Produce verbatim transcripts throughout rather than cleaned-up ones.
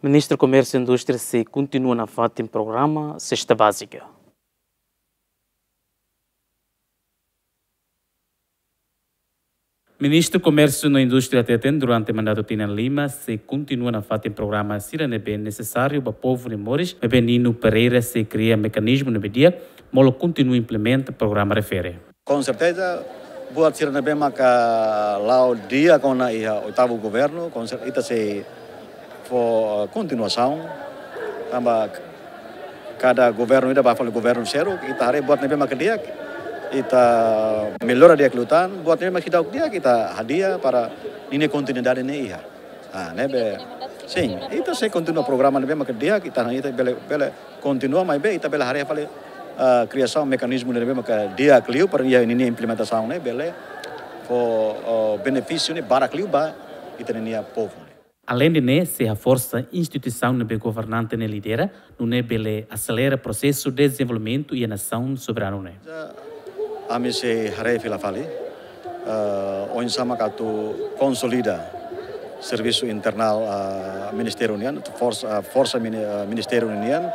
Ministru Komérsiu no Indústria sei kontinua nafatin programa Sesta Bázika. Ministru Komérsiu no Indústria hateten durante mandatu tinan lima sei kontinua nafatin programa sira ne'ebé nesesáriu ba povu nia moris, maibé Nino Pereira sei kria mekanizmu ne'ebé di'ak, molok kontinua implementa programa refere. Com certeza, buat sira ne'ebé maka la'o di'ak ona iha oitavu governu, com certeza ita sei fó, eh, kontinuasaun. Tanba kada governu ida ba fali governu seluk, ita haree buat ne'ebé maka di'ak, ita mellora di'ak liután, buat ne'ebé maka seidauk di'ak, ita hadi'a para ninia kontinuidade ne'e iha. Ah, ne'ebé, sin, ita sei kontinua programa ne'ebé maka di'ak, ita, ita bele, bele kontinua, maibé ita bele haree fali, ah, kriasaun mekanizmu ne'ebé maka di'ak liu para iha ninia implementasaun ne'e bele fó, oh, benefísiu ne'e barak liu ba ita-nia povu ne'e. Aleinde ne'e, sei haforsa instituisaun ne'ebé governante ne'e lidera, nune'e bele aselera prosesu dezenvolvimentu iha nasaun soberanu ne'e. Ami sei haree fila fali, eh, oinsá mak atu konsolida servisu internál, eh, ministériu nian, forsa, eh, forsa mini-, eh, ministériu nian,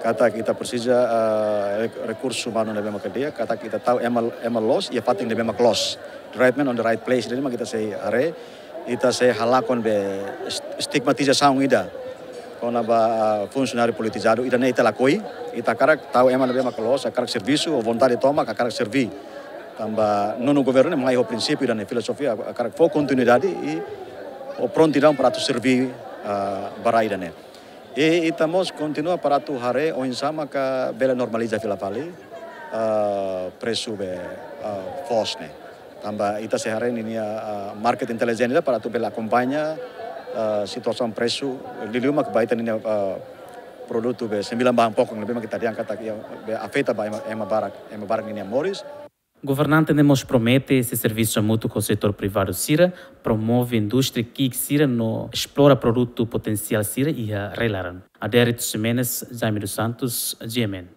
katak ita presiza, eh, rek-, rekursu umanu ne'ebé mak di'ak, katak ita tau ema, ema loos iha fatin ne'ebé mak loos. The right man on the right place, jadi mak ita sei haree, ita sei halakon be est-, estigmatizasaun ida kona-ba, ah, funsionáriu politizadu, ida-ne'e ita lakohi, ita hakarak tau ema ne'ebé mak loos, hakarak servisu, ho vontade tomak, hakarak serví. Tanba nonu governu ne'e mai ho prinsípiu ida-ne'e, filozofia, hakarak fó kontinuidade i ho prontidaun para atu serví, ah, ba rai ida-ne'e. I ita mós kontinua para atu haree oinsá maka bele normaliza fila fali, ah, presu be, ah, foos ne'e. Tanba ita sei haree ninia, ah, market intelligence ida para atu bele akompaña, ah, situasaun presu, liuliu mak ba ita ninia, ah, produtu be sembilan bahan pokok ne'ebé mak ita dehan katak iha be afeta ba ema, ema barak, ema barak ninia moris. Governante ne'e mós promete sei servisu hamutuk ho setór privadu sira, promove indústria ki'ik sira no esplora produtu potensiál sira iha rai-laran. Adérito Ximenes, Jaime dos Santos, G M N.